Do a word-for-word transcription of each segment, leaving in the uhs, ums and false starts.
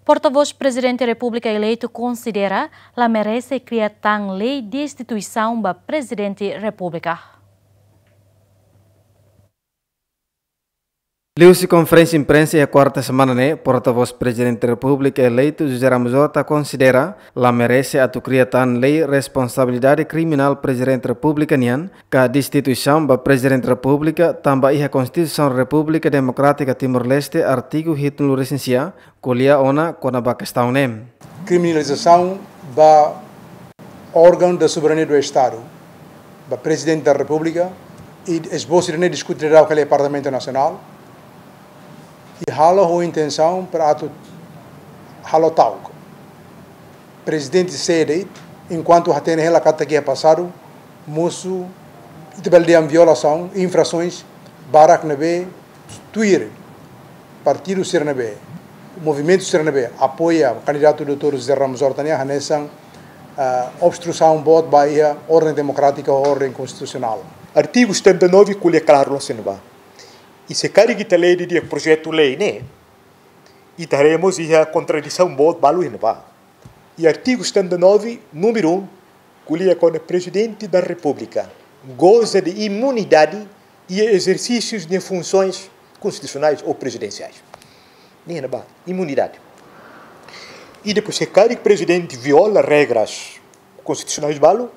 Portavós Prezidente Repúblika eleitu konsidera la merese kria tan lei destituisaun ba Prezidente Repúblika. Liuhusi konferénsia imprensa iha kuarta semana ne'e, portavós Prezidente Repúblika eleitu José Ramos Horta konsidera la merese atu kria tan lei responsabilidade kriminál Prezidente Repúblika nian, ka destituisaun ba Prezidente Repúblika, tanba iha Konstituisaun Repúblika Demokrátika Timor-Leste, artigu hitunulu-resin-sia, ko'alia ona kona-ba kestaun ne'e. Kriminalizasaun ba órgaun da soberania do Estadu, ba Prezidente da Repúblika, i esbosu ida-ne'e diskute daudaun iha Parlamentu Nasionál, i halo ho intensaun para atu halo ta'uk. Prezidente sei de'it, enkuantu hatene hela katak iha pasadu, mosu, ita bele dehan violasaun, infrasoens barak ne'ebé tuir partidu sira ne'ebé, movimentu sira ne'ebé apoia kandidatu doutór José Ramos Horta nian, hanesan, ah, obstrusaun boot ba iha orden demokrátika, orden konstitusionál. Artigu setenta e nove ko'alia klaru loos ne'ebá. I se karik ita lee didi'ak projetu lei ne'e, ita haree mós iha kontradisaun boot balu iha ne'ebá. I artigu setenta e nove, númeru um, ko'alia kona-ba Prezidente da Repúblika goza de imunidade iha ezersísiu de funsoens konstitusionais ou prezidensiais. Ne'e iha ne'ebá, imunidade. I depois, se karik Prezidente viola regras konstitusionais balu,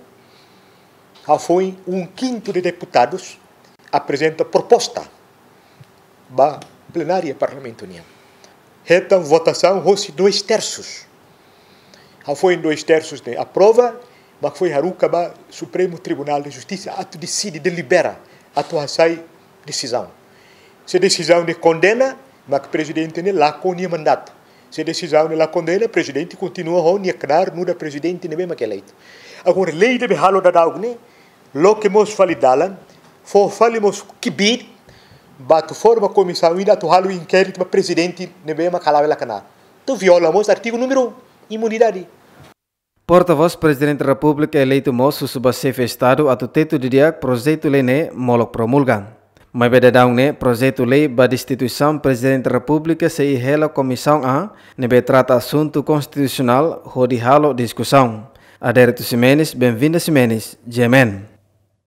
hafoin um quinto de deputados aprezenta proposta ba plenária Parlamentu nian. Hetan votasaun hosi dois terços. Hafoin dois terços ne'e aprova, mak foin haruka ba Supremu Tribunál de Justisa atu deside, delibera, atu hasai desizaun. Se desizaun ne'e kondena, mak Prezidente ne'e lakon nia mandatu. Se desizaun ne'e la kondena, Prezidente kontinua ho nia knaar nu'udar Prezidente ne'ebé mak eleitu. Agora, lei ne'ebé halo daudaun ne'e, loke mós fali dalan, fó fali mós kbiit, ba atu forma komisaun ida atu halo inkéritu ba Prezidente ne'ebé mak hala'o hela knaar. Atu viola mós artigu númeru um, imunidade. Portavós Prezidente Repúblika eleitu mós husu ba Xefe Estadu atu tetu didi'ak projetu lei ne'e molok promulga. Maibé daudaun ne'e projetu lei ba destituisaun Prezidente Repúblika sei iha hela Komisaun A, ne'ebé trata asuntu konstitusionál hodi halo diskusaun. Adérito Ximenes, Benvinda Ximenes, G M N.